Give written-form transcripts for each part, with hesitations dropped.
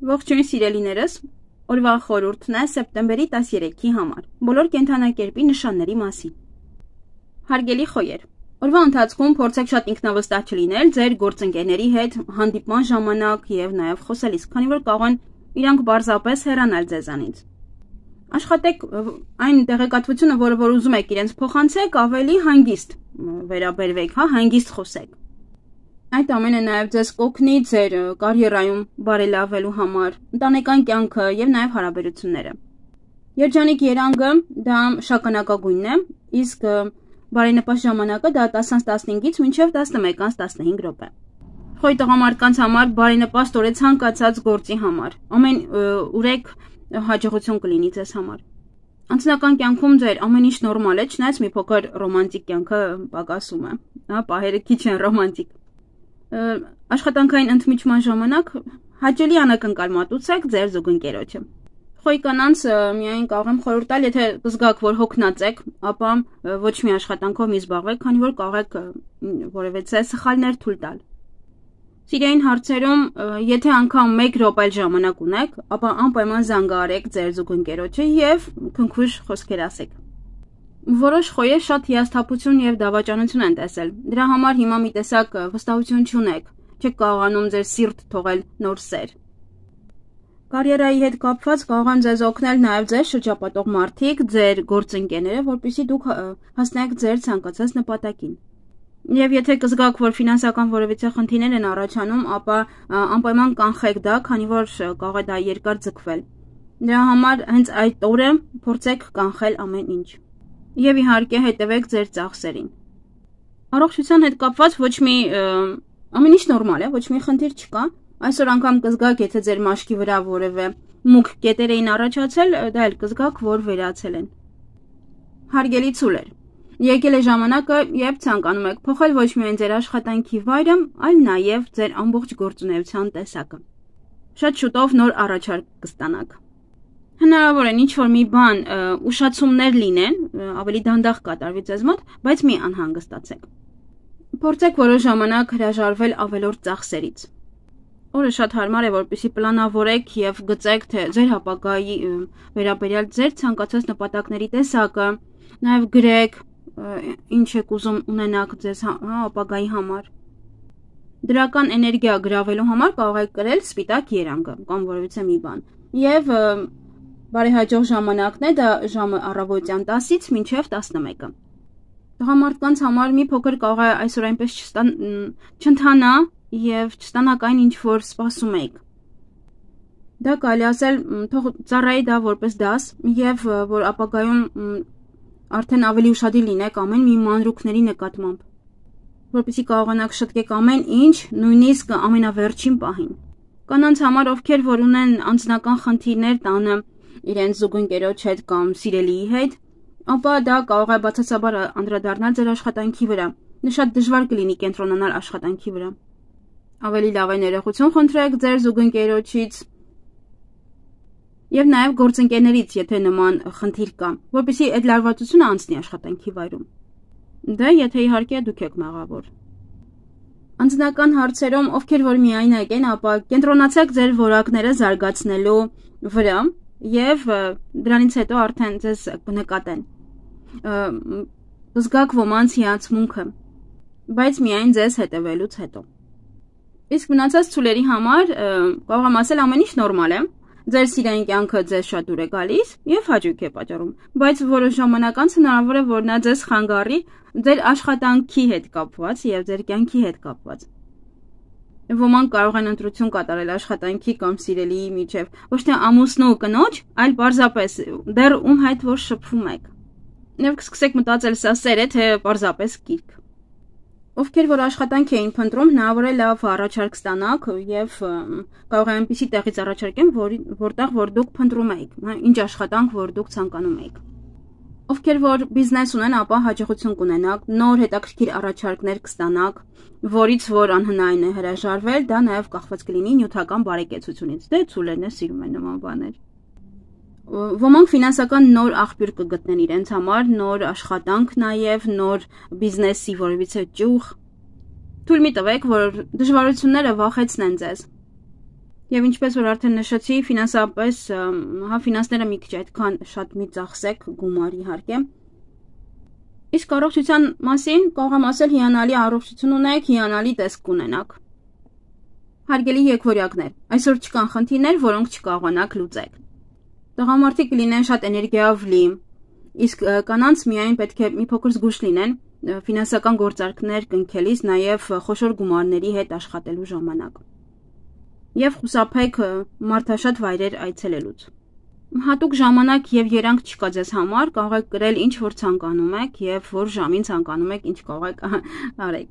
Ողջույն սիրելիներս, օրվա խորհուրդն է սեպտեմբերի 13-ի համար, բոլոր կենդանակերպի նշանների մասին։ Հարգելի խոյեր, օրվա ընթացքում փորձեք շատ ինքնավստահ չլինել ձեր գործընկերների հետ հանդիպման ժամանակ եւ նաեւ խոսելիս, քանի որ կարող են իրանք պարզապես հեռանալ ձեզանից։ Աշխատեք այն տեղեկատվությունը, որը որ ուզում եք իրենց փոխանցեք, ավելի հանգիստ վերաբերվեք, հանգիստ խոսեք։ Այդ ամենը նաև ձեզ կօգնի ձեր կարիերայում բարելավելու համար, ընտանեկան կյանքը եւ նաև հարաբերությունները։ Երջանիկ երանգը դա շագանակագույնն է, իսկ բարենպաստ ժամանակը դա 10-15-ից մինչև 11-15 րոպե։ Խոյ տղամարդկանց համար բարենպաստ օր է ցանկացած գործի համար։ Ամեն ուրեք հաջողություն կլինի ձեզ համար։ Անձնական կյանքում ձեր ամեն ինչ նորմալ է, չնայած մի փոքր ռոմանտիկ կյանքը պակասում է, պահերը քիչ են ռոմանտիկ։ Աշխատանքային ընդմիջման ժամանակ հաճելի անակնկալ մատուցեք ձեր զուգընկերոջը։ Խոյ կանանց միայն կարող եմ խորհուրդ տալ, եթե կզգաք, որ հոգնած եք, ապա ոչ մի աշխատանքով մի զբաղվեք, քանի որ կարող եք որևէ սխալներ թույլ տալ։ Սիրային հարցերում, եթե անգամ 1 րոպե ժամանակ ունեք, ապա անպայման զանգահարեք ձեր զուգընկերոջը եւ քնքուշ խոսքեր ասեք։ Որոշ խոյեր շատ հիասթափություն եւ դավաճանություն են տեսել։ Դրա համար հիմա մի տեսակ վստահություն չունեք, չեք կարողանում ձեր սիրտ թողել նոր սեր։ Կարիերայի հետ կապված կարող են ձեզ օգնել նաեւ ձեր շրջապատող մարդիկ, ձեր գործընկերները, որպեսզի դուք հասնեք ձեր ցանկացած նպատակին։ Եվ եթե կզգաք, որ ֆինանսական որևիցե խնդիրներ են առաջանում, ապա անպայման կանխեք դա, քանի որ կարող է դա երկար ձգվել։ Դրա համար հենց այդ օրը փորձեք կանխել ամեն ինչ։ Եվ իհարկե հետևեք ձեր ծախսերին։ Առողջության հետ կապված ոչ մի ամեն ինչ նորմալ է, ոչ մի խնդիր չկա։ Այսօր անգամ կզգաք, եթե ձեր մաշկի վրա որևէ մուգ կետեր էին առաջացել, դա էլ կզգաք, որ վերացել են։ Հարգելի ցուլեր, եկել է ժամանակը, երբ ցանկանում եք փոխել ոչ միայն ձեր աշխատանքի վայրը, այլ նաև ձեր ամբողջ գործունեության տեսակը։ Շատ շուտով նոր առաջարկ կստանաք։ Հնարավոր է ինչ-որ մի բան ուշացումներ լինեն, ավելի դանդաղ կատարվի ձեզ մոտ, բայց մի անհանգստացեք։ Փորձեք որոշ ժամանակ հրաժարվել ավելորդ ծախսերից։ Օրը շատ հարմար է, որպեսզի պլանավորեք եւ գծեք, թե ձեր ապագայի վերաբերյալ ձեր ցանկացած նպատակների տեսակը, նաեւ գրեք, ինչ եք ուզում ունենաք ձեզ ապագայի համար։ Դրական էներգիա գրավելու համար կարող եք գրել սպիտակ երանգը կամ որևիցե մի բան։ Եվ բարեհաջող ժամանակն է դա ժամը առավոտյան 10-ից մինչև 11-ը։ Տղամարդկանց համար մի փոքր կարող է այսօր այնպես չընթանա եւ չստանաք այն, ինչ որ սպասում եք։ Դա կարելի ասել թող ծառայի դա որպես դաս եւ որ ապագայում արդեն ավելի ուշադիր լինեք ամեն մի մանրուքների նկատմամբ, որպեսզի կարողանաք շտկեք ամեն ինչ, նույնիսկ ամենավերջին պահին։ Կանանց համար, ովքեր որ ունեն անձնական խնդիրներ տանը իրենց զուգընկերոջ հետ կամ սիրելիի հետ, ապա դա կարող է բացասաբար անդրադառնալ ձեր աշխատանքի վրա։ Շատ դժվար կլինի կենտրոնանալ աշխատանքի վրա։ Ավելի լավ է ներողություն խնդրեք ձեր զուգընկերոջից եւ նաեւ գործընկերներից, եթե նման խնդիր կա, որպեսզի այդ լարվածությունը անցնի աշխատանքի վայրում։ Դա եթե իհարկե դուք եք մեղավոր։ Անձնական հարցերում, ովքեր որ միայնակ են, ապա կենտրոնացեք ձեր որակները զարգացնելու վրա եւ դրանից հետո արդեն ձեզ կնկատեն։ Զգաք ոմանց հիացմունքը, բայց միայն ձեզ հետևելուց հետո։ Իսկ մնացած ցուլերի համար կարող եմ ասել ամեն ինչ նորմալ է։ Ձեր սիրային կյանքը ձեզ շատ դուր է գալիս եւ հաճույք է պատճառում, բայց որոշ ժամանակ անց հնարավոր է որ նա ձեզ խանգարի ձեր աշխատանքի հետ կապված եւ ձեր կյանքի հետ կապված։ Ոմանք կարող են ընտրություն կատարել աշխատանքի կամ սիրելիի միջև, ոչ թե ամուսնու ու կնոջ, այլ պարզապես դեռ ում հետ որ շփվում եք։ Եվ կսկսեք մտածել սա սեր է, թե պարզապես կիրք։ Ովքեր որ աշխատանք էին փնտրում, հնարավոր է լավ առաջարկ ստանաք եւ կարող է այնպիսի տեղից առաջարկեմ, որտեղ որ դուք փնտրում եք, ինչ աշխատանք որ դուք ցանկանում եք։ Ովքեր որ բիզնես ունեն, ապա հաջողություն կունենաք, նոր հետաքրքիր առաջարկներ կստանաք, որից որ անհնարին է հրաժարվել, դա նաեւ կախված կլինի նյութական բարեկեցությունից։ Դե ցուլերն է սիրում են նման բաներ։ Ոմանք ֆինանսական նոր աղբյուր կգտնեն իրենց համար, նոր աշխատանք նաև, նոր բիզնեսի որևիցե ճյուղ։ Թույլ մի տվեք, որ դժվարությունները վախեցնեն ձեզ։ Եվ ինչպես որ արդեն նշեցի, ֆինանսապես, ֆինանսները մի քիչ այդքան շատ մի ծախսեք գումար իհարկե։ Իսկ առողջության մասին կարող եմ ասել հիանալի առողջություն ունեք, հիանալի տեսք ունենաք։ Հարգելի եկվորյակներ, այսօր չկան խնդիրներ, որոնք չկարողանաք լուծել։ Տղամարդիկ կլինեն շատ էներգիայով լի, իսկ կանանց միայն պետք է մի փոքր զգուշ լինեն ֆինանսական գործարքներ կնքելիս, նաև խոշոր գումարների հետ աշխատելու ժամանակ։ Եվ խուսափեք մարդաշատ վայրեր այցելելուց։ Հատուկ ժամանակ եւ երանգ չկա ձեզ համար, կարող եք գրել ինչ որ ցանկանում եք եւ որ ժամին ցանկանում եք, ինչ կարող եք արեք։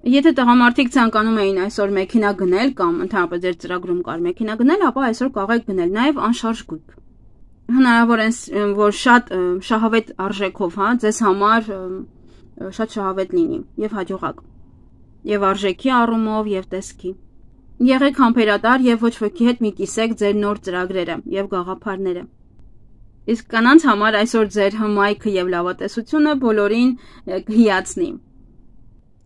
Եթե տղամարդիկ ցանկանում էին այսօր մեքենա գնել կամ ընդհանրապես ձեր ծրագրում կար մեքենա գնել, ապա այսօր կարող եք գնել նաև անշարժ գույք։ Հնարավոր է որ շատ շահավետ արժեքով, ձեզ համար շատ շահավետ լինի եւ հաջողակ։ Եվ արժեքի առումով եւ տեսքի։ Եղեք համբերատար եւ ոչ ոքի հետ մի կիսեք ձեր նոր ծրագրերը եւ գաղափարները։ Իսկ կանանց համար այսօր ձեր հմայքը եւ լավատեսությունը բոլորին կհիացնի։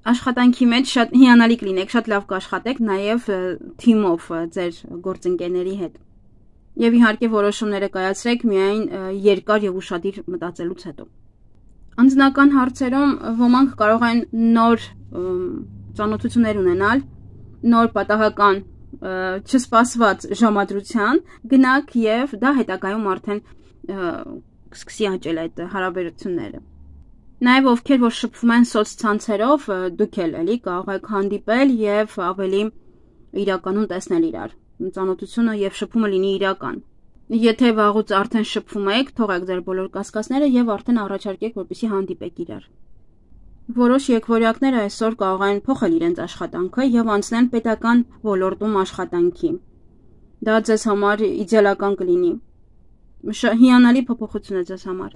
Աշխատանքի մեջ շատ հիանալի կլինեք, շատ լավ կաշխատեք նաև թիմով ձեր գործընկերների հետ։ Եվ իհարկե որոշումները կայացրեք միայն երկար եւ ուշադիր մտածելուց հետո։ Անձնական հարցերում ոմանք կարող են նոր ծանոթություններ ունենալ, նոր պատահական չսպասված ժամադրության գնաք եւ դա հետագայում արդեն սկսի աճել այդ հարաբերությունները։ Նաև ովքեր որ շփվում են սոցցանցերով, դուք էլ կարող եք հանդիպել եւ ավելի իրականում տեսնել իրար։ Ծանոթությունը եւ շփումը լինի իրական։ Եթե վաղուց արդեն շփվում եք, թողեք ձեր բոլոր կասկածները եւ արդեն առաջարկեք, որպեսզի հանդիպեք իրար։ Որոշ եկվորյակներ այսօր կարող են փոխել իրենց աշխատանքը եւ անցնել պետական ոլորտում աշխատանքի։ Դա ձեզ համար իդեալական կլինի։ Հիանալի փոփոխություն է ձեզ համար։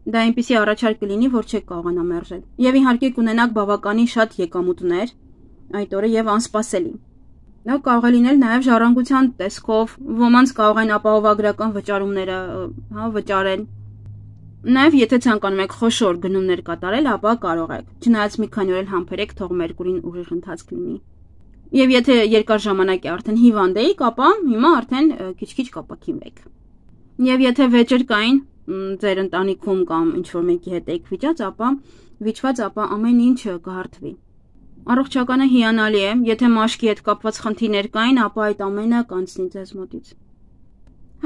Դա այնպիսի առաջարկ կլինի, որ չեք կարողանա մերժել։ Եվ իհարկե կունենաք բավականին շատ եկամուտներ այդ օրը եւ անսպասելի։ Դա կարող է լինել նաև ժառանգության տեսքով, ոմանց կարող են ապահովագրական վճարումները, վճարել։ Նաև եթե ցանկանում եք խոշոր գնումներ կատարել, ապա կարող եք։ Չնայած մի քանի օր համբերեք, թող Մերկուրին ուժեղ ընթացք լինի։ Եվ եթե երկար ժամանակ է արդեն հիվանդ եք, ապա հիմա արդեն քիչ-քիչ կապակինվեք։ Եվ եթե վեճեր կային ձեր ընտանիքում կամ ինչ-որ մեկի հետ եք վիճված, ապա ամեն ինչ կհարթվի։ Առողջականը հիանալի է, եթե մաշկի հետ կապված խնդիրներ կային, ապա այդ ամենը կանցնի ձեզ մոտից։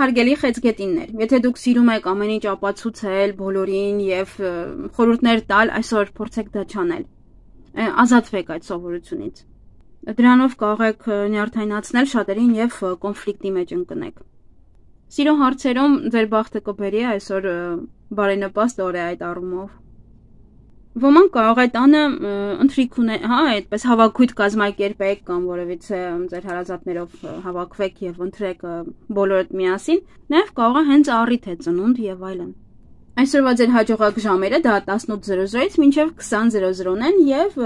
Հարգելի խեցգետիններ, եթե դուք սիրում եք ամեն ինչ ապացուցել բոլորին եւ խորհուրդներ տալ, այսօր փորձեք դա չանել։ Ազատվեք այդ սովորությունից։ Դրանով կարող եք նյարդայնացնել շատերին եւ կոնֆլիկտի մեջ ընկնեք։ Սիրո հարցերում ձեր բախտը կբերի այսօր բարենպաստ օր է այդ առումով։ Ոմանք կարող է տանը ընթրիք ունեն, այդպես հավաքույթ կազմակերպեք կամ որևիցե ձեր հարազատներով հավաքվեք եւ ընթրեք բոլորդ միասին, նաեւ կարող է հենց առիթ է ծնունդ եւ այլն։ Այսօրվա ձեր հաջողակ ժամերը դա 18:00-ից մինչեւ 20:00-ն են եւ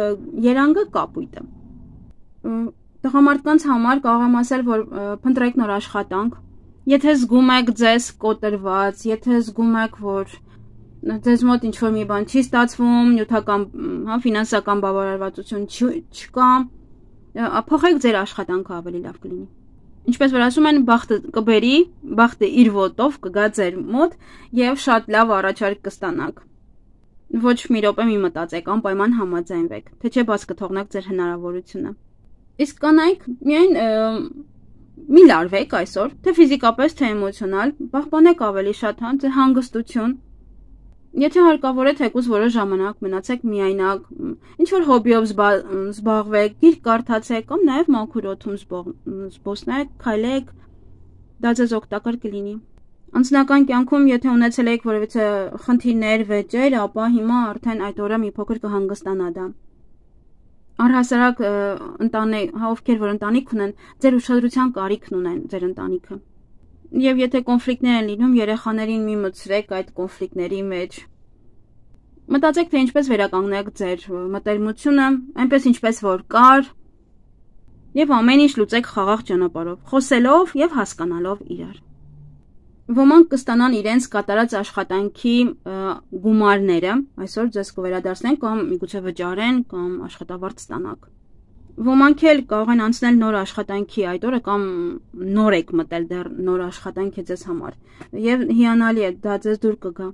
երանգը կապույտը։ Տղամարդկանց համար կարող եմ ասել, որ փնտրեք նոր աշխատանք։ Եթե զգում եք ձեզ կոտրված, եթե զգում եք, որ ձեզ մոտ ինչ-որ մի բան չի ստացվում, նյութական, ֆինանսական բավարարվածություն չկա, փոխեք ձեր աշխատանքը ավելի լավ կլինի։ Ինչպես որ ասում են, բախտը կբերի, բախտը իր ոտով կգա ձեր մոտ եւ շատ լավ առաջարկ կստանաք։ Ոչ մի րոպե մի մտածեք, անպայման համաձայնվեք, թե չէ բաց կթողնեք ձեր հնարավորությունը։ Իսկ կանայք միայն մի լարվեք այսօր, թե ֆիզիկապես, թե էմոցիոնալ, պահպանեք ավելի շատ հանգստություն։ Եթե հարկավոր է թեկուզ որոշ ժամանակ մնացեք միայնակ, ինչ-որ հոբիով զբաղվեք, գիրք կարդացեք կամ նաև մաքուր օդում զբոսնեք, քայլեք, դա ձեզ օգտակար կլինի։ Անձնական կյանքում եթե ունեցել եք որևիցե խնդիրներ, վեճեր, ապա հիմա արդեն այդ օրը մի փոքր կհանգստանա դա։ Առհասարակ ովքեր որ ընտանիք ունեն, ձեր ուշադրության կարիքն ունեն ձեր ընտանիքը։ Եվ եթե կոնֆլիկտներ են լինում, երեխաներին մի մտցրեք այդ կոնֆլիկտների մեջ։ Մտածեք, թե ինչպես վերականգնեք ձեր մտերմությունը, այնպես ինչպես որ կար, եւ ամեն ինչ լուծեք խաղաղ ճանապարհով, խոսելով եւ հասկանալով իրար։ Ոմանք կստանան իրենց կատարած աշխատանքի գումարները, այսօր ձեզ կվերադարձնեն կամ միգուցե վճարեն կամ աշխատավարձ ստանաք։ Ոմանք էլ կարող են անցնել նոր աշխատանքի այդ օրը կամ նոր եք մտել դեռ նոր աշխատանք է ձեզ համար եւ հիանալի է դա ձեզ դուր կգա։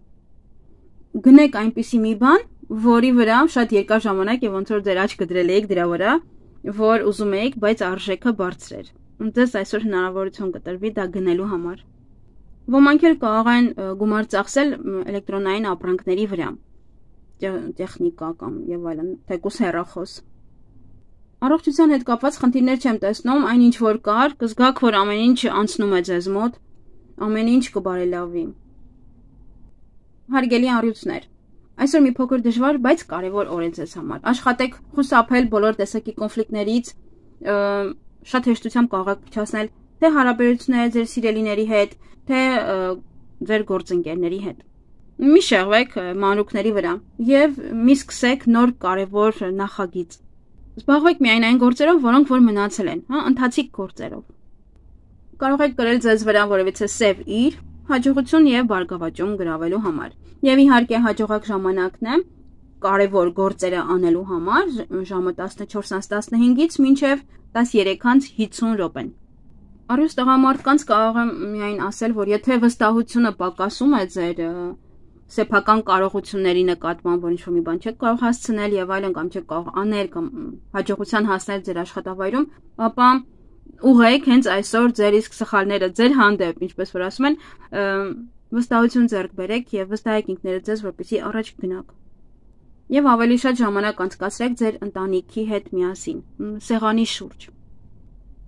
Գնեք այնպիսի մի բան, որի վրա շատ երկար ժամանակ եւ ոնց որ ձեր աչքը դրել եք դրա վրա, որ ուզում եք, բայց արժեքը բարձր էր։ Ձեզ այսօր հնարավորություն կտրվի դա գնելու համար։ Ոմանք էլ կարող են գումար ծախսել էլեկտրոնային ապրանքների վրա, տեխնիկա կամ եւ այլն, թեկուզ հեռախոս։ Առողջության հետ կապված խնդիրներ չեմ տեսնում, այնինչ որ կար, կզգաք, որ ամեն ինչ անցնում է ձեզ մոտ, ամեն ինչ կբարելավի։ Հարգելի առյուծներ, այսօր մի փոքր դժվար, բայց կարևոր օր է ձեզ համար։ Աշխատեք խուսափել բոլոր տեսակի կոնֆլիկտներից, շատ հեշտությամբ կարող եք փչացնել թե հարաբերությունները ձեր սիրելիների հետ, թե ձեր գործընկերների հետ։ Մի շեղվեք մանրուքների վրա եւ մի սկսեք նոր կարևոր նախագիծ։ Զբաղվեք միայն այն գործերով, որոնք որ մնացել են, ընթացիկ գործերով։ Կարող եք գրել ձեզ վրա որևիցե սև իր, հաջողություն եւ բարգավաճում գրավելու համար։ Եվ իհարկե հաջողակ ժամանակն է կարևոր գործերը անելու համար, ժամը 14:15-ից մինչև 13:50 րոպեն։ Առյուծ տղամարդկանց կարող եմ միայն ասել, որ եթե վստահությունը պակասում է ձեր սեփական կարողությունների նկատմամբ, որ ինչ-որ մի բան չեք կարող հասցնել եւ այլն կամ չեք կարող անել կամ հաջողության հասնել ձեր աշխատավայրում, ապա ուղղեք հենց այսօր ձեր իսկ սխալները ձեր հանդեպ, ինչպես որ ասում են, վստահություն ձեռք բերեք եւ վստահեք ինքներդ ձեզ, որպեսզի առաջ գնաք։ Եվ ավելի շատ ժամանակ անցկացրեք ձեր ընտանիքի հետ միասին, սեղանի շուրջ։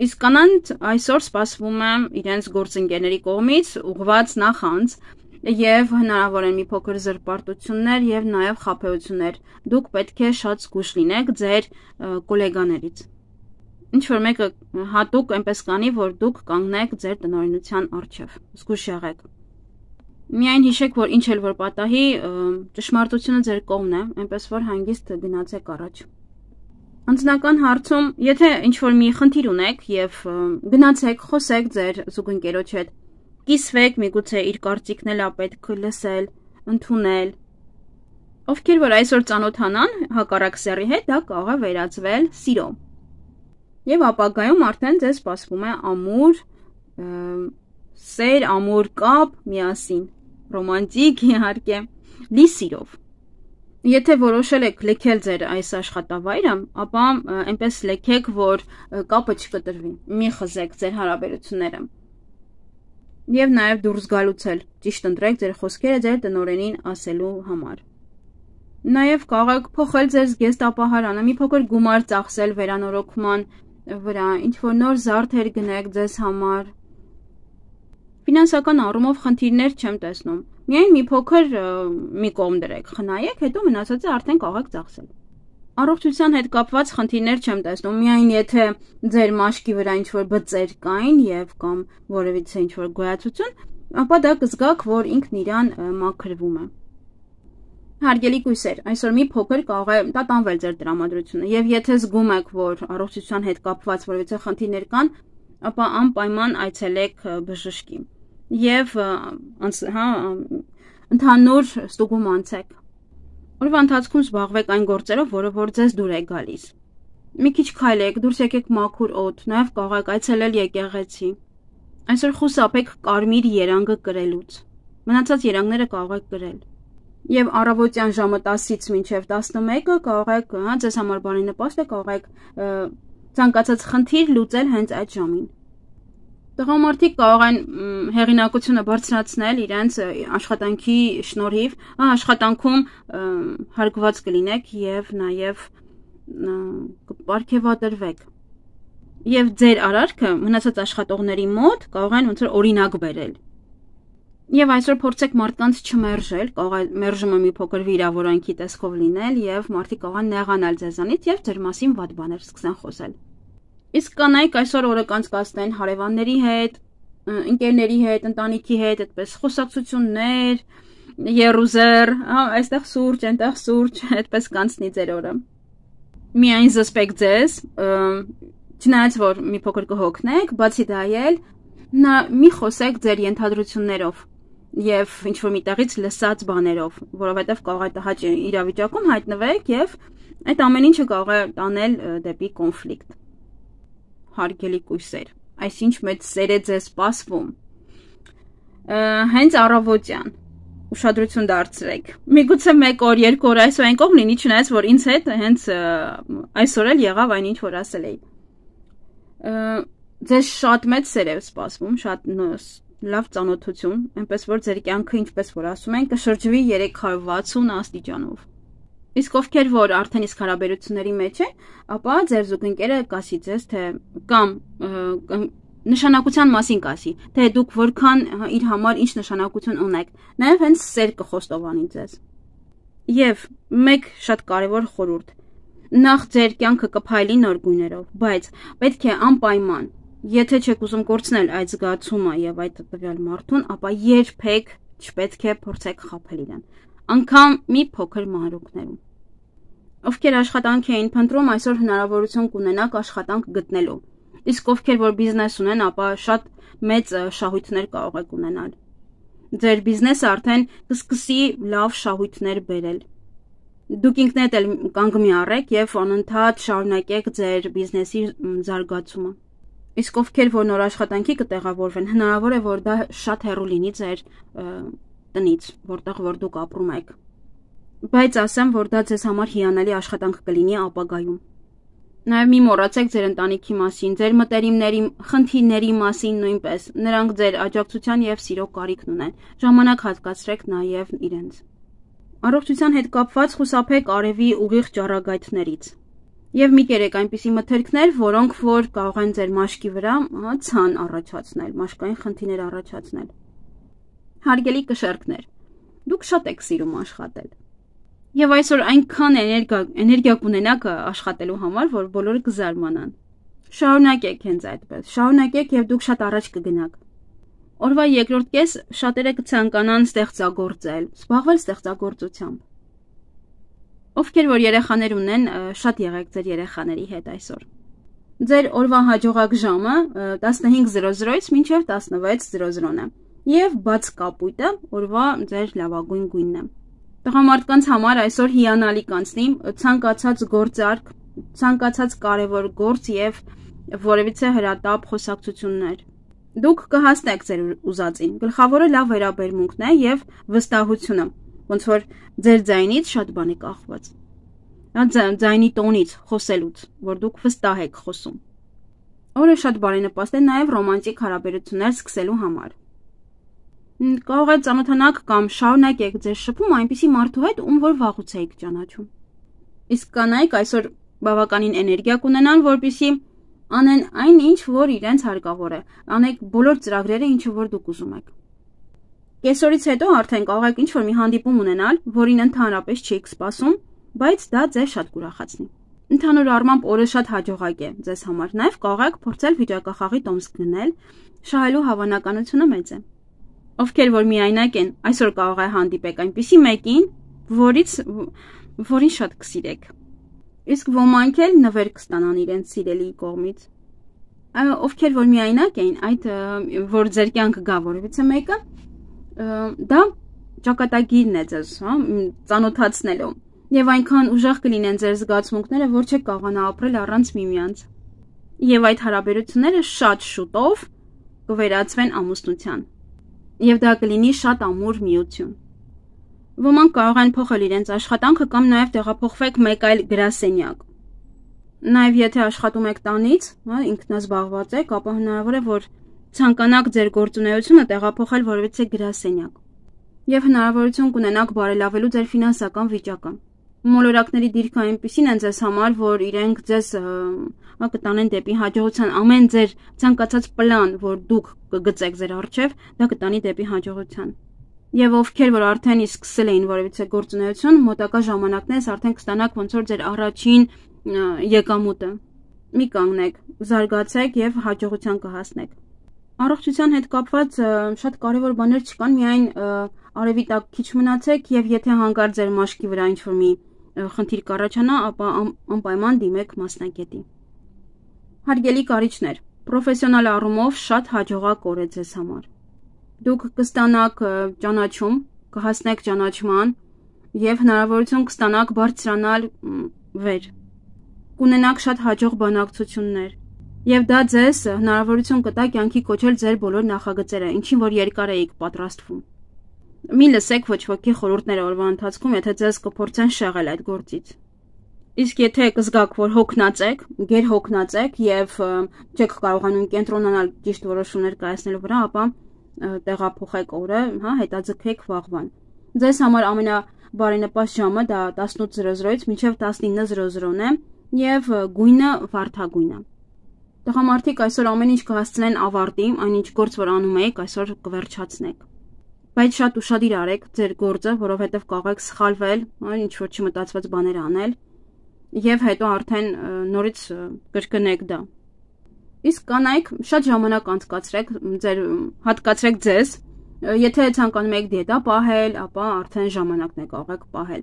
Իսկ կանանց այսօր սպասվում է իրենց գործընկերների կողմից ուղղված նախանձ եւ հնարավոր են մի փոքր զրպարտություններ եւ նաեւ խաբեություններ։ Դուք պետք է շատ զգույշ լինեք ձեր գոլեգաներից։ Ինչ որ մեկը հատուկ այնպես կանի, որ դուք կանգնեք ձեր տնօրինության առջև։ Զգույշ եղեք։ Միայն հիշեք, որ ինչ էլ որ պատահի, ճշմարտությունը ձեր կողմն է, այնպես որ հանգիստ գնացեք առաջ։ Անձնական հարցում, եթե ինչ որ մի խնդիր ունեք եւ գնացեք, խոսեք ձեր զուգընկերոջ հետ, կիսվեք, միգուցե իր կարծիքն էլ պետք է լսել, ընդունել։ Ովքեր որ այսօր ծանոթանան հակառակ սեռի հետ, դա կարող է վերածվել սիրո։ Եվ ապագայում արդեն ձեզ սպասվում է ամուր սեր, ամուր կապ միասին, ռոմանտիկ իհարկե, լի սիրով։ Եթե որոշել եք լքել ձեր այս աշխատավայրը, ապա այնպես լքեք, որ կապը չկտրվի, մի խզեք ձեր հարաբերությունները։ Եվ նաև դուրս գալուց էլ ճիշտ ընտրեք ձեր խոսքերը ձեր տնօրենին ասելու համար։ Նաև կարող եք փոխել ձեր զգեստապահարանը, մի փոքր գումար ծախսել վերանորոգման վրա, ինչ որ նոր զարդեր գնեք ձեզ համար։ Ֆինանսական առումով խնդիրներ չեմ տեսնում։ Միայն մի փոքր մի կողմ դրեք, խնայեք, հետո մնացածը արդեն կարող եք ծախսել։ Առողջության հետ կապված խնդիրներ չեմ տեսնում, միայն եթե ձեր մաշկի վրա ինչ-որ բծեր կային եւ կամ որևիցե ինչ-որ գոյացություն, ապա դա կզգաք, որ ինքն իրան մաքրվում է։ Հարգելի կույսեր, այսօր մի փոքր կարող է տատանվել ձեր տրամադրությունը եւ եթե զգում եք, որ առողջության հետ կապված որևիցե խնդիրներ կան, ապա անպայման այցելեք բժշկի եւ ընդհանուր ստուգում անցեք։ Օրվա ընթացքում զբաղվեք այն գործերով, որը որ ձեզ դուր է գալիս։ Մի քիչ քայլեք, դուրս եկեք մաքուր օդ, նաև կարող եք այցելել եկեղեցի։ Այսօր խուսափեք կարմիր երանգը կրելուց։ Մնացած երանգները կարող եք կրել։ Եվ առավոտյան ժամը 10-ից մինչև 11-ը կարող եք, ձեզ համար բարենպաստ է, կարող եք ցանկացած խնդիր լուծել հենց այդ ժամին։ Տղամարդիկ կարող են հեղինակությունը բարձրացնել իրենց աշխատանքի շնորհիվ, աշխատանքում հարգված կլինեք եւ նաեւ կպարգևատրվեք։ Եվ ձեր արարքը մնացած աշխատողների մոտ կարող են ոնց որ օրինակ բերել։ Եվ այսօր փորձեք մարդկանց չմերժել, կարող է մերժումը մի փոքր վիրավորանքի տեսքով լինել եւ մարդիկ կարող են նեղանալ ձեզանից եւ ձեր մասին վատ բաներ սկսեն խոսել։ Իսկ կանայք այսօր օրը կանցկացնեն հարևանների հետ, ընկերների հետ, ընտանիքի հետ, այդպես խոսակցություններ, երուզեր, այստեղ սուրճ, այնտեղ սուրճ, այդպես կանցնի ձեր օրը։ Միայն զսպեք ձեզ, չնայած որ մի փոքր կհոգնեք, բացի դա էլ մի խոսեք ձեր ենթադրություններով։ եւ ինչ որ միտեղից լսած բաներով, որովհետեւ կարող է տհաճ իրավիճակում հայտնվեք եւ այդ ամեն ինչը կարող է տանել դեպի կոնֆլիկտ։ Հարգելի կույսեր, այսինչ մեծ սեր է ձեզ սպասվում։ Հենց առավոտյան ուշադրություն դարձրեք։ Միգուցե 1 օր, 2 օր այսօր այն կողմ լինի, չնայած որ ինձ հետ հենց այսօր էլ եղավ այն ինչ որ ասել էի։ Ձեզ շատ մեծ սեր է սպասվում, շատ լավ ծանոթություն, այնպես որ ձեր կյանքը, ինչպես որ ասում են, կշրջվի 360 աստիճանով։ Իսկ ովքեր որ արդեն իսկ հարաբերությունների մեջ են, ապա ձեր զուգընկերը կասի ձեզ, թե կամ նշանակության մասին կասի, թե դուք որքան իր համար ինչ նշանակություն ունեք, նաև հենց սեր կխոստովանի ձեզ։ Եվ մեկ շատ կարևոր խորհուրդ, նախ ձեր կյանքը կփայլի նոր գույներով, բայց պետք է անպայման, եթե չեք ուզում կորցնել այդ զգացումը եւ այդ տվյալ մարդուն, ապա երբեք չպետք է փորձեք խաբել իրեն, անգամ մի փոքր մանրուքներում։ Ովքեր աշխատանք էին փնտրում, այսօր հնարավորություն կունենաք աշխատանք գտնելու։ Իսկ ովքեր որ բիզնես ունեն, ապա շատ մեծ շահույթներ կարող եք ունենալ։ Ձեր բիզնեսը արդեն կսկսի լավ շահույթներ բերել։ Դուք ինքներդ էլ կանգ մի առեք եւ անընդհատ շարունակեք ձեր բիզնեսի զարգացումը։ Իսկ ովքեր որ նոր աշխատանքի կտեղավորվեն, հնարավոր է որ դա շատ հեռու լինի ձեր տնից, որտեղ որ դուք ապրում եք։ Բայց ասեմ, որ դա ձեզ համար հիանալի աշխատանք կլինի ապագայում։ Նաև մի մոռացեք ձեր ընտանիքի մասին, ձեր մտերիմների, խնդիրների մասին նույնպես։ Նրանք ձեր աջակցության եւ սիրո կարիքն ունեն։ Ժամանակ հատկացրեք նաև իրենց։ Առողջության հետ կապված խուսափեք արևի ուղիղ ճառագայթներից։ Եվ մի կերեք այնպիսի մթերքներ, որոնք որ կարող են ձեր մաշկի վրա ցան առաջացնել, մաշկային խնդիրներ առաջացնել։ Հարգելի կշեռքներ, դուք շատ եք սիրում աշխատել։ Եվ այսօր այնքան էներգիա կունենաք աշխատելու համար, որ բոլորը կզարմանան։ Շարունակեք հենց այդպես, շարունակեք եւ դուք շատ առաջ կգնաք։ Օրվա երկրորդ կես շատերը կցանկանան ստեղծագործել, զբաղվել ստեղծագործությամբ։ Ովքեր որ երեխաներ ունեն, շատ եղեք ձեր երեխաների հետ այսօր։ Ձեր օրվա հաջողակ ժամը 15:00-ից մինչև 16:00 է։ Եվ բաց կապույտը օրվա ձեր լավագույն գույնն է։ Տղամարդկանց համար այսօր հիանալի կանցնի ցանկացած գործարք, ցանկացած կարևոր գործ եւ որևիցե հրատապ խոսակցություններ։ Դուք կհասնեք ձեր ուզածին։ Գլխավորը լավ վերաբերմունքն է եւ վստահությունը, ոնց որ ձեր ձայնից շատ բան է կախված։ Ձայնի տոնից, խոսելուց, որ դուք վստահ եք խոսում։ Օրը շատ բարենպաստ է նաեւ ռոմանտիկ հարաբերություններ սկսելու համար։ Կարող է ծանոթանաք կամ շարունակեք ձեր շփումը այնպիսի մարդու հետ, ում որ վաղուց եք ճանաչում։ Իսկ կանայք այսօր բավականին էներգիա կունենան, որպեսզի անեն այն ինչ, որ իրենց հարկավոր է, անեք բոլոր ծրագրերը, ինչը որ դուք ուզում եք։ Կեսօրից հետո արդեն կարող եք ինչ-որ մի հանդիպում ունենալ, որին ընդհանրապես չեք սպասում, բայց դա ձեզ շատ կուրախացնի։ Ընդհանուր առմամբ օրը շատ հաջողակ է ձեզ համար, նաև կարող եք փորձել վիճակախաղի տոմս գնել, շահելու հավանականությունը մեծ է։ Ովքեր որ միայնակ են, այսօր կարող է հանդիպեք այնպիսի մեկին, որին շատ կսիրեք։ Իսկ ոմանք էլ նվեր կստանան իրենց սիրելիի կողմից։ Ովքեր որ միայնակ են, այդ որ ձեր կյանք գա որևիցե մեկը, դա ճակատագիրն է ձեզ, ծանոթացնելու։ Եվ այնքան ուժեղ կլինեն ձեր զգացմունքները, որ չեք կարողանա ապրել առանց միմյանց։ Եվ այդ հարաբերությունները շատ շուտով կվերածվեն ամուսնության։ Եվ դա կլինի շատ ամուր միություն։ Ոմանք կարող են փոխել իրենց աշխատանքը կամ նաև տեղափոխվեք մեկ այլ գրասենյակ։ Նաև եթե աշխատում եք տանից, ինքնազբաղված եք, ապա հնարավոր է, որ ցանկանաք ձեր գործունեությունը տեղափոխել որևիցե գրասենյակ։ Եվ հնարավորություն կունենաք բարելավելու ձեր ֆինանսական վիճակը։ Մոլորակների դիրքը այնպիսին են ձեզ համար, որ իրենք ձեզ կտանեն դեպի հաջողության, ամեն ձեր ցանկացած պլան, որ դուք կգծեք ձեր առջև, դա կտանի դեպի հաջողության։ Եվ ովքեր որ արդեն իսկ սկսել էին որևիցե գործունեություն, մոտակա ժամանակներս արդեն կստանաք ոնց որ ձեր առաջին եկամուտը։ Մի կանգնեք, զարգացեք եւ հաջողության կհասնեք։ Առողջության հետ կապված շատ կարևոր բաներ չկան, միայն արևի տակ քիչ մնացեք եւ եթե հանկարծ ձեր մաշկի վրա ինչ-որ մի խնդիր կառաջանա, ապա անպայման դիմեք մասնագետի։ Հարգելի կարիճներ, պրոֆեսիոնալ առումով շատ հաջողակ օր է ձեզ համար։ Դուք կստանաք ճանաչում, կհասնեք ճանաչման եւ հնարավորություն կստանաք բարձրանալ վեր։ Կունենաք շատ հաջող բանակցություններ եւ դա ձեզ հնարավորություն կտա կյանքի կոչել ձեր բոլոր նախագծերը, ինչին որ երկար էիք պատրաստվում։ Մի լսեք ոչ ոքի խորհուրդները օրվա ընթացքում, եթե ձեզ կփորձեն շեղել այդ գործից։ Իսկ եթե կզգաք, որ հոգնած եք, գերհոգնած եք եւ չեք կարողանում կենտրոնանալ ճիշտ որոշումներ կայացնելու վրա, ապա տեղափոխեք օրը, հետաձգեք վաղվան։ Ձեզ համար ամենաբարենպաստ ժամը դա 18:00-ից մինչև 19:00 է եւ գույնը վարդագույնը։ Տղամարդիկ այսօր ամեն ինչ կհասցնեն ավարտի, այնինչ գործ որ անում եք, այսօր կվերջացնեք։ Բայց շատ ուշադիր արեք ձեր գործը, որովհետեւ կարող եք սխալվել, ինչ որ չմտածված բաներ անել եւ հետո արդեն նորից կրկնեք դա։ Իսկ կանայք շատ ժամանակ անցկացրեք, հատկացրեք ձեզ, եթե ցանկանում եք դիետա պահել, ապա արդեն ժամանակն է կարող եք պահել։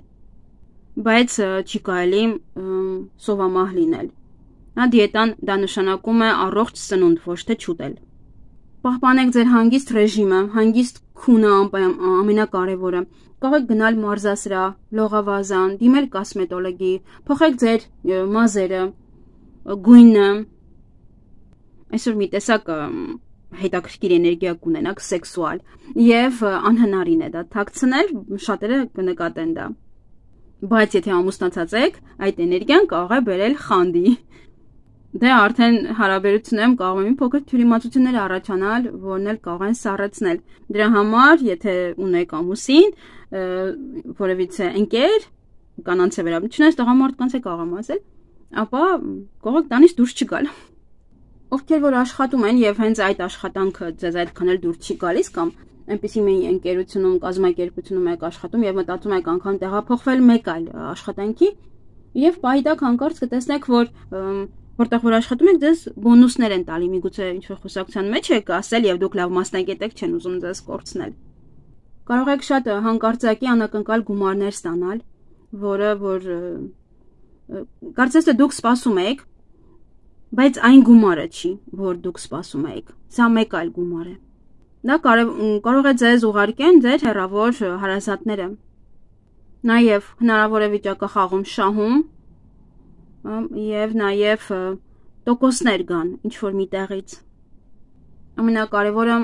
Բայց չի կարելի սովամահ լինել։ Դիետան դա նշանակում է առողջ սնունդ, ոչ թե չուտել։ Պահպանեք ձեր հանգիստ ռեժիմը, հանգիստ քունը ամենակարևորը։ Կարող եք գնալ մարզասրահ, լողավազան, դիմել կոսմետոլոգի, փոխեք ձեր մազերը, գույնը։ Այսօր մի տեսակ հետաքրքիր էներգիա կունենաք սեքսուալ եւ անհնարին է դա թաքցնել, շատերը կնկատեն դա։ Բայց եթե ամուսնացած եք, այդ էներգիան կարող է բերել խանդի։ Դե արդեն հարաբերություններում կարող է մի փոքր թյուրիմացություններ առաջանալ, որն էլ կարող են սառեցնել։ Դրա համար, եթե ունեք ամուսին, որևիցե ընկեր, կանանց է վերաբերյալ, տղամարդկանց է կարող եմ ասել, ապա կարող եք տանից դուրս չգալ։ Ովքեր որ աշխատում են եւ հենց այդ աշխատանքը ձեզ այդքան էլ դուրս չի գալիս կամ այնպեսի մի ընկերությունում, կազմակերպությունում եք աշխատում եւ մտածում եք անգամ տեղափոխվել մեկ այլ աշխատանքի եւ պահիդակ հանկարծ կտեսնեք, որ որտեղ որ աշխատում եք, ձեզ բոնուսներ են տալի, միգուցե ինչ-որ խոսակցության մեջ եք ասել եւ դուք լավ մասնագետ եք, չեն ուզում ձեզ կորցնել։ Կարող եք շատ հանկարծակի անակնկալ գումարներ ստանալ, որը որ կարծես թե դուք սպասում եք, բայց այն գումարը չի, որ դուք սպասում եք։ Սա մեկ այլ գումար է։ Դա կարող է ձեզ ուղարկեն ձեր հեռավոր հարազատները։ Նաեւ հնարավոր է վիճակախաղում շահում եւ նաեւ տոկոսներ գան ինչ որ մի տեղից։ Ամենակարևորը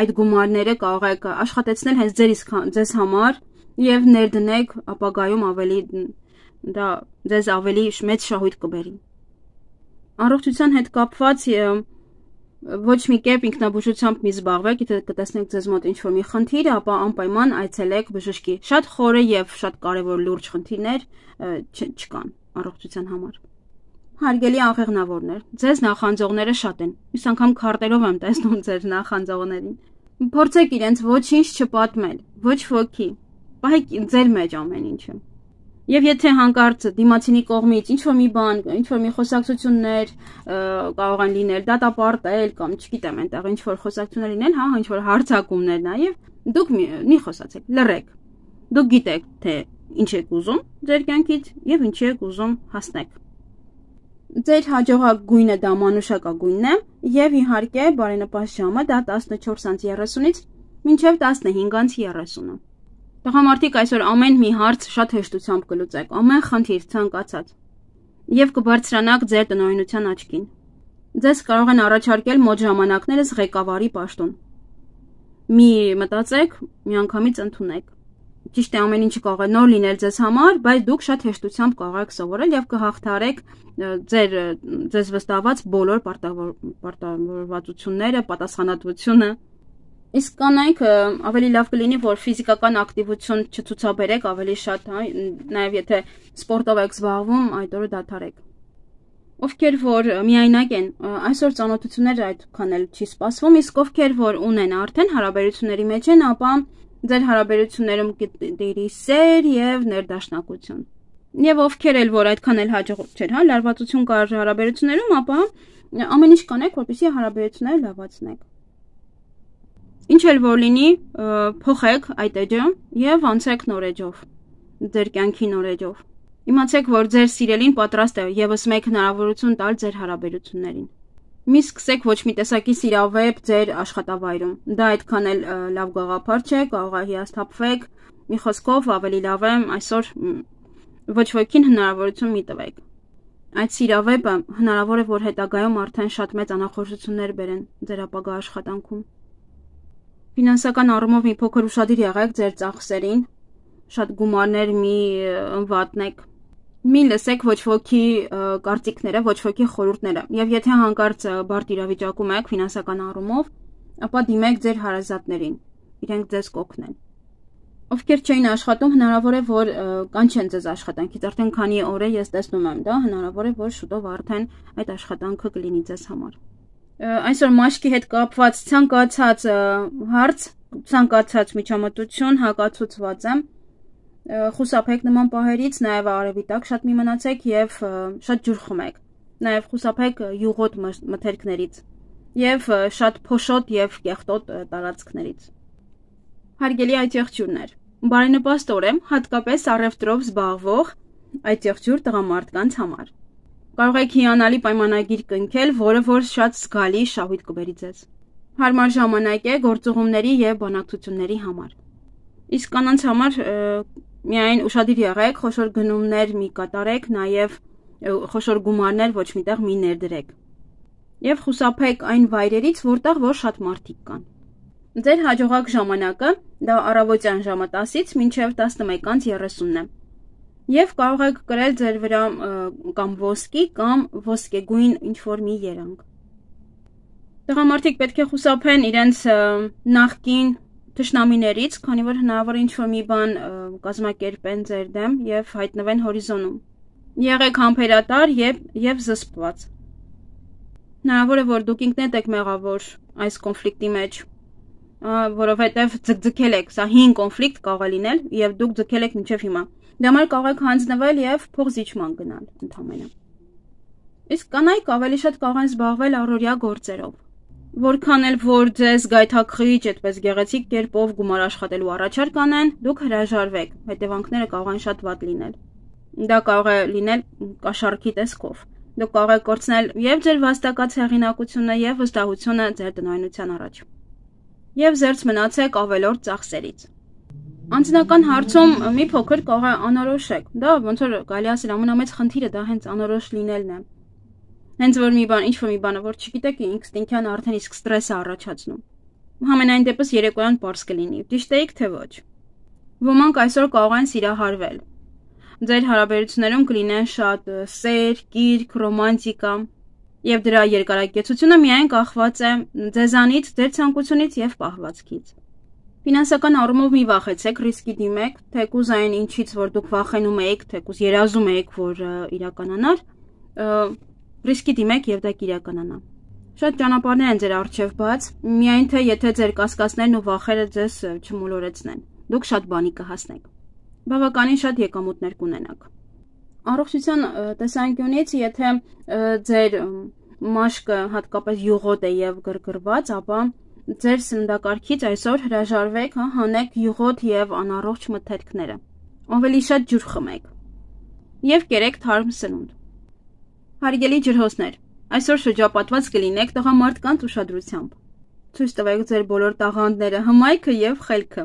այդ գումարները կարող եք աշխատեցնել հենց ձեզ համար եւ ներդնեք ապագայում ավելի դա ձեզ ավելի մեծ շահույթ կբերի։ Առողջության հետ կապված ոչ մի կերպ ինքնաբուժությամբ մի զբաղվեք, եթե կտեսնեք ձեզ մոտ ինչ-որ մի խնդիր, ապա անպայման այցելեք բժշկի։ Շատ խորը եւ շատ կարեւոր լուրջ խնդիրներ չկան առողջության համար։ Հարգելի աղեղնավորներ, ձեզ նախանձողները շատ են։ Ես անգամ քարտերով եմ տեսնում ձեր նախանձողներին։ Փորձեք իրենց ոչինչ չպատմել, ոչ ոքի։ Պահեք ձեր մեջ ամեն ինչը։ Եվ եթե հանկարծ դիմացինի կողմից ինչ-որ մի բան, ինչ-որ մի խոսակցություններ կարող են լինել, դատապարտել կամ չգիտեմ, այնտեղ ինչ-որ խոսակցություններ լինել, ինչ-որ հարցակումներ նաև, դուք մի խոսացեք, լռեք։ Դուք գիտեք, թե ինչ եք ուզում ձեր կյանքից եւ ինչ եք ուզում հասնեք։ Ձեր հաջողակ գույնը դա մանուշակագույնն է եւ իհարկե բարենպաստ ժամը դա 14:30-ից մինչեւ 15:30-ը։ Տղամարդիկ այսօր ամեն մի հարց շատ հեշտությամբ կլուծեք, ամեն խնդիր ցանկացած եւ կբարձրանաք ձեր տնօրինության աչքին։ Ձեզ կարող են առաջարկել մոտ ժամանակներս ղեկավարի պաշտոն։ Մի մտածեք, միանգամից ընդունեք։ Ճիշտ է, ամեն ինչը կարող է նոր լինել ձեզ համար, բայց դուք շատ հեշտությամբ կարող եք սովորել եւ կհաղթարեք ձեզ վստահված բոլոր պարտավորվածությունները, պատասխանատվությունը։ Իսկ կանայք ավելի լավ կլինի, որ ֆիզիկական ակտիվություն չցուցաբերեք ավելի շատ, նաև եթե սպորտով եք զբաղվում, այդ օրը դադարեք։ Ովքեր որ միայնակ են, այսօր ծանոթությունները այդքան էլ չի սպասվում, իսկ ովքեր որ ունեն արդեն հարաբերությունների մեջ են, ապա ձեր հարաբերություններում կտիրի սեր եւ ներդաշնակություն։ Եվ ովքեր էլ որ այդքան էլ հաջող չէր, լարվածություն կար հարաբերություններում, ապա ամեն ինչ կանեք, որպեսզի հարաբերությունները լավացնեք։ Ինչ էլ որ լինի, փոխեք այդ էջը եւ անցեք նոր էջով, ձեր կյանքի նոր էջով։ Իմացեք, որ ձեր սիրելին պատրաստ է եւս մեկ հնարավորություն տալ ձեր հարաբերություններին։ Մի սկսեք ոչ մի տեսակի սիրավեպ ձեր աշխատավայրում։ Դա այդքան էլ լավ գաղափար չէ, կարող է հիասթափվեք, մի խոսքով ավելի լավ է այսօր ոչ ոքին հնարավորություն մի տվեք։ Այդ սիրավեպը հնարավոր է, որ հետագայում արդեն շատ մեծ անախորժություններ բերեն ձեր ապագա աշխատանքում։ Ֆինանսական առումով մի փոքր ուշադիր եղեք ձեր ծախսերին, շատ գումարներ մի վատնեք։ Մի լսեք ոչ ոքի կարծիքները, ոչ ոքի խորհուրդները, եւ եթե հանկարծ բարդ իրավիճակում եք ֆինանսական առումով, ապա դիմեք ձեր հարազատներին, իրենք ձեզ կօգնեն։ Ովքեր չէին աշխատում, հնարավոր է, որ կանչեն ձեզ աշխատանքից, արդեն քանի օր է ես տեսնում եմ դա, հնարավոր է, որ շուտով արդեն այդ աշխատանքը կլինի ձեզ համար։ Այսօր մաշկի հետ կապված ցանկացած հարց, ցանկացած միջամտություն հակացուցված եմ։ Խուսափեք նման պահերից, նաև արևի տակ շատ մի մնացեք եւ շատ ջուր խմեք։ Նաև խուսափեք յուղոտ մթերքներից եւ շատ փոշոտ եւ կեղտոտ տարածքներից։ Հարգելի այթեղջյուրներ, բարենպաստ օր եմ հատկապես առևտրով զբաղվող այթեղջյուր տղամարդկանց համար։ Կարող եք հիանալի պայմանագիր կնքել, որը որ շատ զգալի շահույթ կբերի ձեզ։ Հարմար ժամանակ է գործուղումների եւ բանակցությունների համար։ Իսկ կանանց համար միայն ուշադիր եղեք, խոշոր գնումներ մի կատարեք, նաև խոշոր գումարներ ոչ միտեղ մի ներդրեք։ Եվ խուսափեք այն վայրերից, որտեղ որ շատ մարդիկ կան։ Ձեր հաջողակ ժամանակը դա առավոտյան ժամը 10-ից մինչև 11:30-ն է։ Եվ կարող եք կրել ձեր վրա կամ ոսկի կամ ոսկեգույն ինչ-որ մի երանգ։ Տղամարդիկ պետք է խուսափեն իրենց նախկին թշնամիներից, քանի որ հնարավոր է ինչ-որ մի բան կազմակերպեն ձեր դեմ եւ հայտնվեն հորիզոնում։ Եղեք համբերատար եւ զսպված։ Հնարավոր է, որ դուք ինքներդ եք մեղավոր այս կոնֆլիկտի մեջ, որովհետեւ ձգձգել եք, սա հին կոնֆլիկտ կարող է լինել եւ դուք ձգել եք մինչեւ հիմա։ Դա համար կարող եք հանձնվել եւ փոխզիջման գնալ ընդհանրապես։ Իսկ կանայք ավելի շատ կարող են զբաղվել առօրյա գործերով։ Որքան էլ որ ձեզ գայթակղիչ այդպես գեղեցիկ կերպով գումար աշխատելու առաջարկ անեն, դուք հրաժարվեք, հետևանքները կարող են շատ վատ լինել։ Դա կարող է լինել կաշառքի տեսքով։ Դուք կարող եք կորցնել եւ ձեր վաստակած հեղինակությունը եւ վստահությունը ձեր տնօրինության առաջ։ Եվ զերծ մնացեք ավելորդ ծախսերից։ Անձնական հարցում մի փոքր կարող է անորոշ եք։ Դա ոնց որ կարելի ասել ամենամեծ խնդիրը դա հենց անորոշ լինելն է։ Հենց որ ինչ-որ մի բանը, որ չգիտեք, ինստինկտյան արդեն իսկ ստրես է առաջացնում։ Համենայն դեպս երեկոյան պարզ կլինի, ճիշտ էիք թե ոչ։ Ոմանք այսօր կարող են սիրահարվել։ Ձեր հարաբերություններում կլինեն շատ սեր, կիրք, ռոմանտիկա, եւ դրա երկարակեցությունը միայն կախված է ձեզանից, ձեր ցանկությունից եւ պահվածքից։ Ֆինանսական առումով մի վախեցեք, ռիսկի դիմեք, թեկուզ այն ինչից որ դուք վախենում եք, թեկուզ երազում եք, որ իրականանար, ռիսկի դիմեք եւ դա կիրականանա։ Շատ ճանապարհներ են ձեր առջև բաց, միայն թե եթե ձեր կասկածներն ու վախերը ձեզ չմոլորեցնեն, դուք շատ բանի կհասնեք։ Բավականին շատ եկամուտներ կունենաք։ Առողջության տեսանկյունից, եթե ձեր մաշկը հատկապես յուղոտ է եւ գրգռված, ապա ձեր սննդակարգից այսօր հրաժարվեք, հանեք յուղոտ եւ անառողջ մթերքները։ Ավելի շատ ջուր խմեք եւ կերեք թարմ սնունդ։ Հարգելի ջրհոսներ, այսօր շրջապատված կլինեք տղամարդկանց ուշադրությամբ։ Ցույց տվեք ձեր բոլոր տաղանդները, հմայքը եւ խելքը։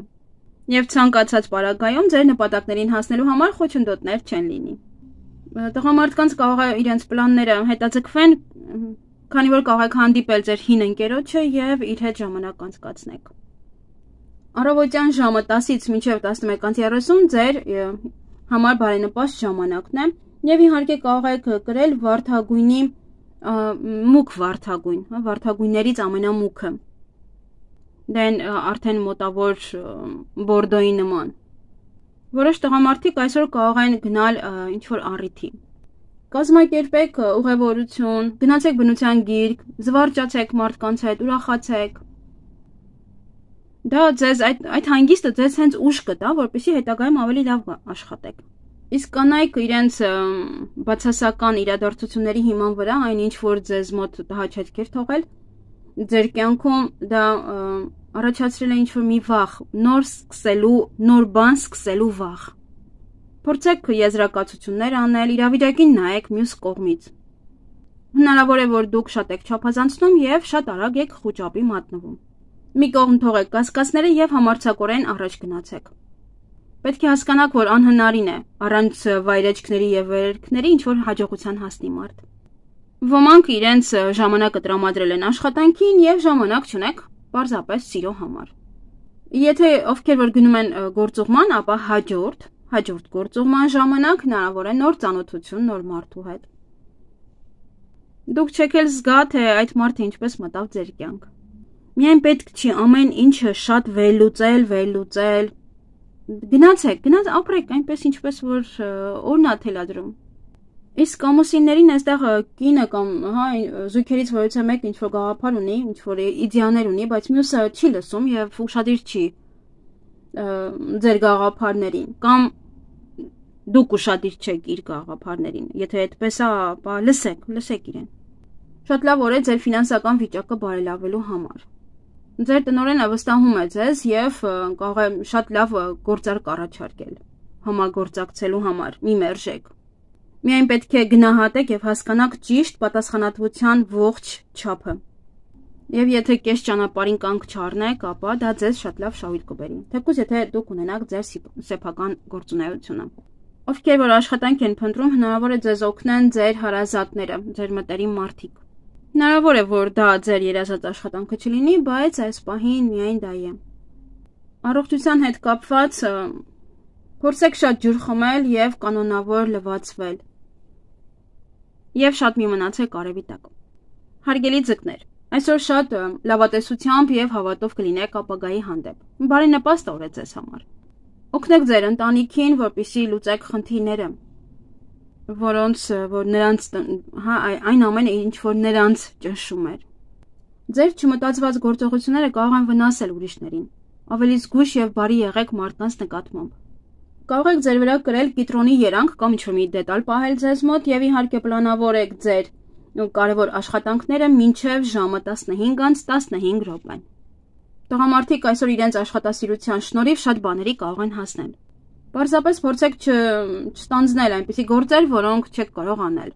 Եվ ցանկացած պարագայում ձեր նպատակներին հասնելու համար խոչընդոտներ չեն լինի։ Տղամարդկանց կարող է իրենց պլանները հետաձգվեն, քանի որ կարող եք հանդիպել ձեր հին ընկերոջը եւ իր հետ ժամանակ անցկացնեք։ Առավոտյան ժամը 10-ից մինչև 11:30 ձեր համար բարենպաստ ժամանակն է եւ իհարկե կարող եք կրել վարդագույնի մուգ վարդագույն, վարդագույններից ամենամուգը։ Դեն արդեն մոտավոր բորդոյի նման։ Որոշ տղամարդիկ այսօր կարող են գնալ ինչ-որ առիթի։ Կազմակերպեք ուղևորություն, գնացեք բնության գիրք, զվարճացեք մարդկանց հետ, ուրախացեք։ Դա ձեզ այդ հանգիստը ձեզ հենց ուժ կտա, որպեսզի հետագայում ավելի լավ աշխատեք։ Իսկ կանայք իրենց բացասական իրադարձությունների հիման վրա, այնինչ որ ձեզ մոտ տհաճ թողել, ձեր կյանքում դա առաջացրել է ինչ-որ մի վախ, նոր բան սկսելու վախ։ Փորձեք եզրակացություններ անել, իրավիճակին նայեք մյուս կողմից։ Հնարավոր է, որ դուք շատ եք չափազանցնում եւ շատ արագ եք խուճապի մատնվում։ Մի կողմ թողեք կասկածները եւ համարձակորեն առաջ գնացեք։ Պետք է հասկանաք, որ անհնարին է առանց վայրեջքների եւ վերելքների ինչ-որ հաջողության հասնի մարդ։ Ոմանք իրենց ժամանակը տրամադրել են աշխատանքին եւ ժամանակ չունեք պարզապես սիրո համար։ Եթե ովքեր որ գնում են գործուղման, ապա հաջորդ գործուղման ժամանակ հնարավոր է նոր ծանոթություն նոր մարդու հետ։ Դուք չեք էլ զգա, թե այդ մարդը ինչպես մտավ ձեր կյանք։ Միայն պետք չի ամեն ինչը շատ վերլուծել։ Գնացեք, ապրեք այնպես ինչպես որ օրն է թելադրում։ Իսկ ամուսիններին այստեղ կինը կամ զույգերից որևէ մեկը ինչ-որ գաղափար ունի, ինչ-որ իդեաներ ունի, բայց մյուսը չի լսում եւ ուշադիր չի ձեր գաղափարներին, կամ դուք ուշադիր չեք իր գաղափարներին։ Եթե այդպես է, ապա լսեք իրեն։ Շատ լավ օր է ձեր ֆինանսական վիճակը բարելավելու համար։ Ձեր տնօրենը վստահում է ձեզ եւ կարող է շատ լավ գործարք առաջարկել համագործակցելու համար։ Մի մերժեք։ Միայն պետք է գնահատեք եւ հասկանաք ճիշտ պատասխանատվության ողջ չափը։ Եվ եթե կես ճանապարհին կանգ չառնեք, ապա դա ձեզ շատ լավ շահույթ կբերի։ Թեկուզ եթե դուք ունենաք ձեր սեփական գործունեությունը։ Ովքեր որ աշխատանք են փնտրում, հնարավոր է ձեզ օգնեն ձեր հարազատները, ձեր մտերիմ մարդիկ։ Հնարավոր է, որ դա ձեր երազած աշխատանքը չլինի, բայց այս պահին միայն դա է։ Առողջության հետ կապված փորձեք շատ ջուր խմել եւ կանոնավոր լվացվել։ Եվ շատ մի մնացեք արևի տակ։ Հարգելի ձկներ, այսօր շատ լավատեսությամբ եւ հավատով կլինեք ապագայի հանդեպ։ Բարենպաստ օր է ձեզ համար։ Օգնեք ձեր ընտանիքին, որպեսզի լուծեք խնդիրները, որոնց որ նրանց այն ամենը ինչ որ նրանց ճնշում էր։ Ձեր չմտածված գործողությունները կարող են վնասել ուրիշներին։ Ավելի զգույշ եւ բարի եղեք մարդկանց նկատմամբ։ Կարող եք ձեր վրա կրել կիտրոնի երանգ կամ ինչ-որ մի դետալ պահել ձեզ մոտ եւ իհարկե պլանավորեք ձեր կարևոր աշխատանքները մինչեւ ժամը 15:15 րոպե։ Տղամարդիկ այսօր իրենց աշխատասիրության շնորհիվ շատ բաների կարող են հասնել։ Պարզապես փորձեք չստանձնել այնպիսի գործեր, որոնք չեք կարող անել։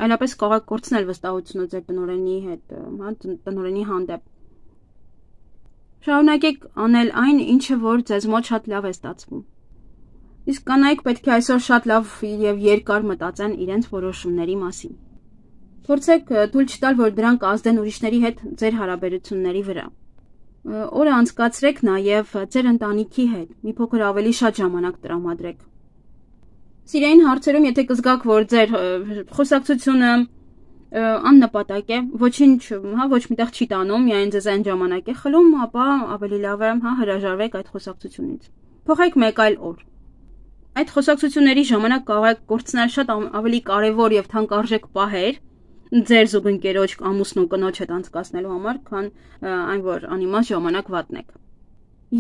Այլապես կարող եք կորցնել վստահությունը ձեր տնօրենի հետ, տնօրենի հանդեպ։ Շարունակեք անել այն, ինչը որ ձեզ մոտ շատ լավ է ստացվում։ Իսկ կանայք պետք է այսօր շատ լավ եւ երկար մտածեն իրենց որոշումների մասին։ Փորձեք թույլ չտալ, որ դրանք ազդեն ուրիշների հետ ձեր հարաբերությունների վրա։ Օրը անցկացրեք նաեւ ձեր ընտանիքի հետ, մի փոքր ավելի շատ ժամանակ տրամադրեք։ Սիրային հարցերում, եթե կզգաք, որ ձեր խոսակցությունը աննպատակ է, ոչ միտեղ չի տանում, միայն ձեզ այն ժամանակ է խլում, ապա ավելի լավ է հրաժարվեք այդ խոսակցությունից։ Փոխեք մեկ այլ օր։ Այդ խոսակցությունների ժամանակ կարող եք կորցնել շատ ավելի կարևոր եւ թանկարժեք պահեր ձեր զուգընկերոջ ամուսնու կնոջ հետ անցկացնելու համար, քան այն որ անիմաստ ժամանակ վատնեք։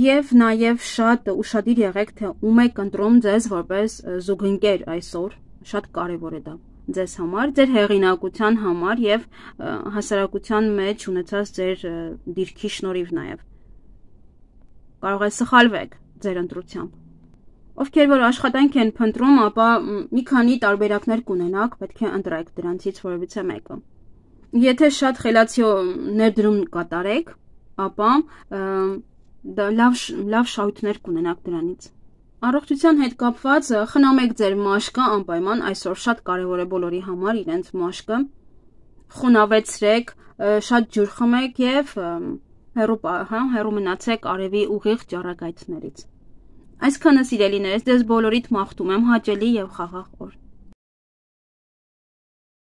Եվ նաեւ շատ ուշադիր եղեք, թե ում եք ընտրում ձեզ որպես զուգընկեր այսօր, շատ կարևոր է դա ձեզ համար, ձեր հեղինակության համար եւ հասարակության մեջ ունեցած ձեր դիրքի շնորհիվ նաեւ։ Կարող է սխալվեք ձեր ընտրությամբ։ Ովքեր որ աշխատանք են փնտրում, ապա մի քանի տարբերակներ կունենաք, պետք է ընտրեք դրանցից որևիցե մեկը։ Եթե շատ խելացի ներդրում կատարեք, ապա լավ շահույթներ կունենաք դրանից։ Առողջության հետ կապված խնամեք ձեր մաշկը անպայման, այսօր շատ կարևոր է բոլորի համար իրենց մաշկը։ Խոնավեցրեք, շատ ջուր խմեք եւ հեռու մնացեք արևի ուղիղ ճառագայթներից։ Այսքանը սիրելիներս, ձեզ բոլորիդ մաղթում եմ հաճելի եւ խաղաղ